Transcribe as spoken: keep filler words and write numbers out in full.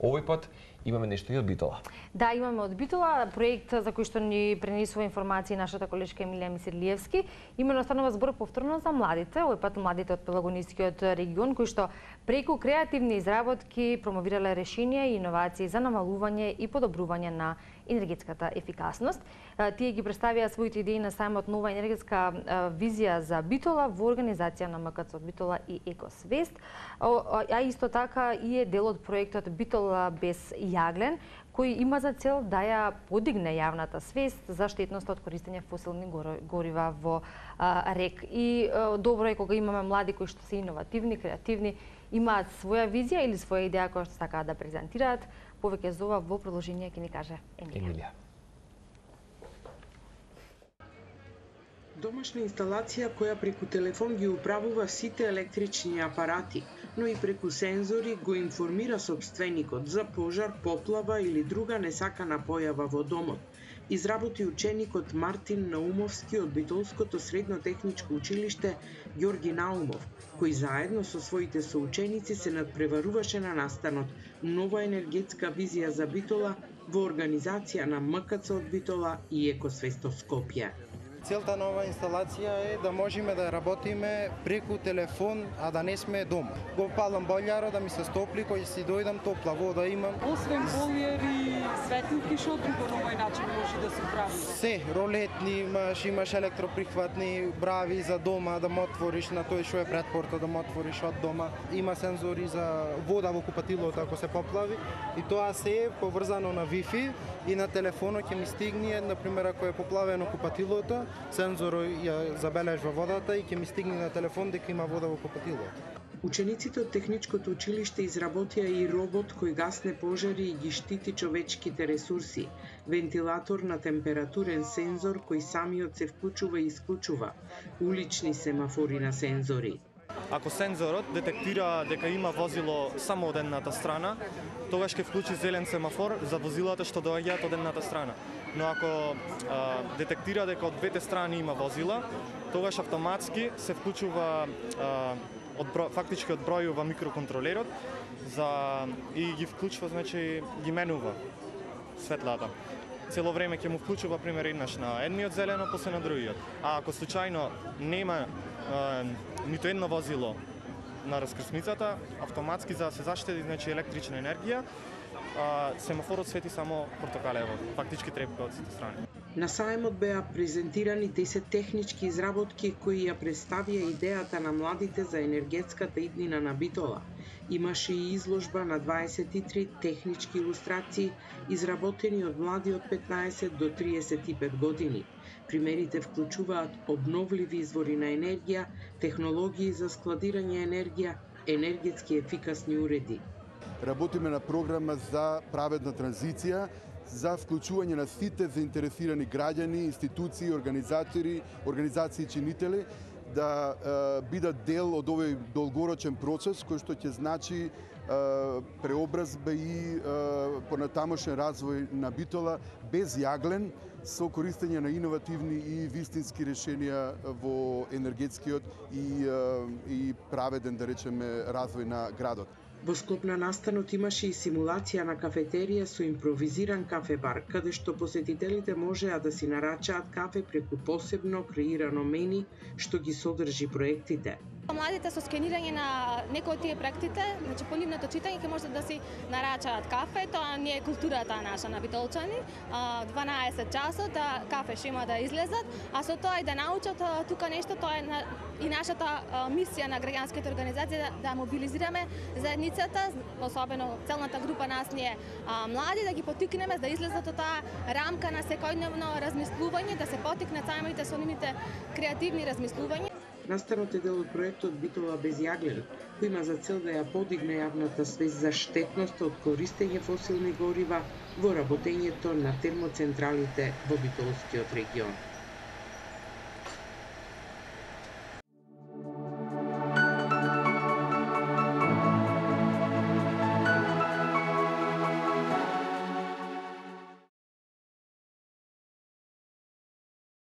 Овој пат имаме нешто и од Битола. Да, имаме од Битола проект за кој што ни пренесува информации нашата колешка Емилија Мисирлиевски. Имено станува збор повторно за младите, овој пат младите од Пелагонискиот регион кои што преку креативни изработки промовирале решенија и иновации за намалување и подобрување на енергетската ефикасност. Тие ги представија своите идеи на сајмот Нова енергетска визија за Битола во организација на МКЦ од Битола и Екосвест, а исто така и е дел од проектот Битола без јаглен, кој има за цел да ја подигне јавната свест за штетноста од користење фосилни горива во РЕК. И добро е кога имаме млади кои што се иновативни, креативни, имаат своја визија или своја идеја која што сакаат да презентираат. Повеќе за ова во продолжение ќе ни каже Емилија. Домашна инсталација која преку телефон ги управува сите електрични апарати, но и преку сензори го информира собственикот за пожар, поплава или друга несакана појава во домот. Изработи ученикот Мартин Наумовски од Битолското средно техничко училиште Ѓорги Наумов, кој заедно со своите соученици се надпреваруваше на настанот Нова енергетска визија за Битола во организација на МКЦ од Битола и Екосвест Скопје. Целта на оваа инсталација е да можеме да работиме преку телефон, а да не сме дома. Го палам бољаро да ми се стопли, кој си дојдам топла вода имам. Освен бољар и светилки, што друго на овој начин може да се прави? Се, ролетни имаш, имаш електроприхватни брави за дома да му отвориш на тој што е пред порта да му отвориш од дома. Има сензори за вода во купатилото ако се поплави и тоа се е поврзано на Wi-Fi и на телефонот ќе ми стигне, например ако е поплавено купатилото, сензорот ја забележува водата и ќе ми стигне на телефон дека има вода во купатилото. Учениците од техничкото училиште изработија и робот кој гасне пожари и ги штити човечките ресурси, вентилатор на температурен сензор кој самиот се вклучува и исклучува, улични семафори на сензори. Ако сензорот детектира дека има возило само од едната страна, тогаш ќе вклучи зелен семафор за возилата што доаѓаат од едната страна. Но ако а, детектира дека од двете страни има возила, тогаш автоматски се вклучува а, одбро, фактички одбројува микроконтролерот за и ги вклучува, значи ги менува светлата. Цело време ќе му вклучува пример еднаш на едниот зелено, после на другиот. А ако случајно нема а, нито едно возило на раскрсницата, автоматски за да се заштеди, значи електрична енергија, а, семафорот свети само портокалево, фактички трепка од сите страни. На сајмот беа презентирани десет технички изработки кои ја представија идејата на младите за енергетската иднина на Битола. Имаше и изложба на дваесет и три технички илустрации изработени од млади од петнаесет до триесет и пет години. Примерите вклучуваат обновливи извори на енергија, технологии за складирање енергија, енергетски ефикасни уреди. Работиме на програма за праведна транзиција, за вклучување на сите заинтересирани граѓани, институции, организатори, организации чинители да е, бидат дел од овој долгорочен процес кој што ќе значи е, преобразба и е, понатамошен развој на Битола без јаглен со користење на иновативни и вистински решенија во енергетскиот и, е, и праведен, да речеме, развој на градот. Во склоп на настанот имаше и симулација на кафетерија со импровизиран кафе-бар, каде што посетителите можеа да си нарачаат кафе преку посебно креирано мени што ги содржи проектите. Младите со скенирање на некои од тие проектите, значи по нивното читање ќе можат да си нарачаат кафе, тоа не е културата наша на битолчани. дванаесет часот да кафе ќе има да излезат, а со тоа и да научат тука нешто, тоа е и нашата мисија на граѓанските организации да, да мобилизираме заедницата, особено целната група нас ние млади, да ги потикнеме да излезат од таа рамка на секојдневно размислување, да се потикнат самите со нивните креативни размислувања. Настанот е дел од проектот Битола без јаглен, кој има за цел да ја подигне јавната свест за штетноста од користење фосилни горива во работењето на термоцентралите во Битолскиот регион.